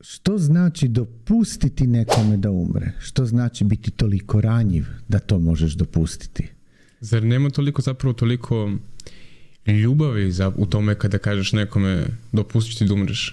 što znači dopustiti nekome da umre? Što znači biti toliko ranjiv da to možeš dopustiti? Zar nema toliko ljubavi u tome kada kažeš nekome dopustiti da umreš?